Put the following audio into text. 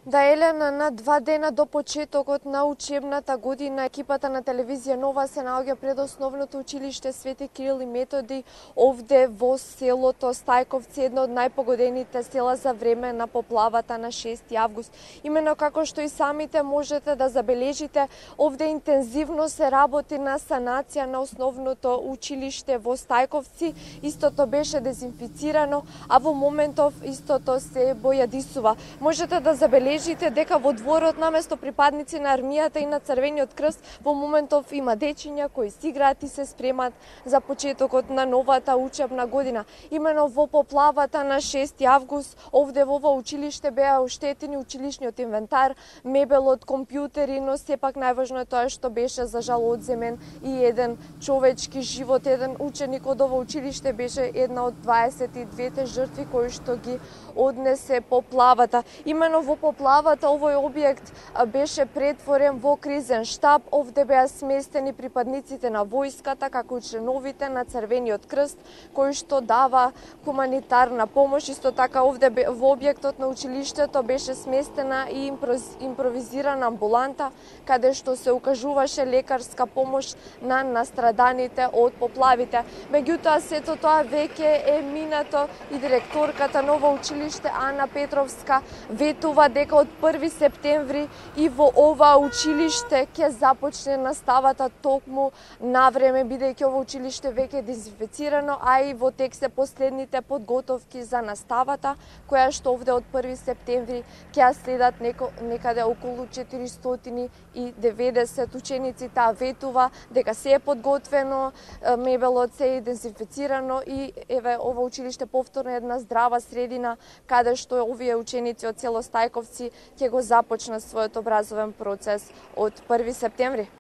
Да, Елена, на 2 дена до почетокот на учебната година, екипата на телевизија Нова се наоѓа пред основното училиште Свети Кирил и Методи овде во селото Стајковци, едно од најпогодените села за време на поплавата на 6 август. Имено како што и самите можете да забележите, овде интензивно се работи на санација на основното училиште во Стајковци. Истото беше дезинфицирано, а во моментов истото се бојадисува. Можете да забележите дека во дворот наместо припадници на армијата и на Црвениот крст во моментов има дечиња кои си играат и се спремат за почетокот на новата учебна година. Имено во поплавата на 6 август овде во ова училиште беа оштетени училишниот инвентар, мебелот, компјутери, но сепак најважно е тоа што беше за жал одземен и еден човечки живот. Еден ученик од ова училиште беше една од 22 жртви кои што ги однесе поплавата. Имено во поплавата овој објект беше претворен во кризен штаб. Овде беа сместени припадниците на војската, како и членовите на Црвениот крст, кои што дава хуманитарна помош. Исто така овде во објектот на училиштето беше сместена и импровизирана амбуланта, каде што се укажуваше лекарска помош на настраданите од поплавите. Меѓутоа, сето тоа веќе е минато и директорката на ова училиште Ана Петровска ветува дека од 1 септември и во ова училиште ќе започне наставата токму на време, бидејќи ова училиште веќе е дезинфицирано, а и во тек се последните подготовки за наставата, која што овде од 1 септември ќе следат некаде околу 490 ученици. Таа ветува дека се е подготвено, мебелот се е дезинфицирано и еве ова училиште повторно една здрава средина каде што овие ученици од село Стајковци ќе го започнат својот образовен процес од 1 септември.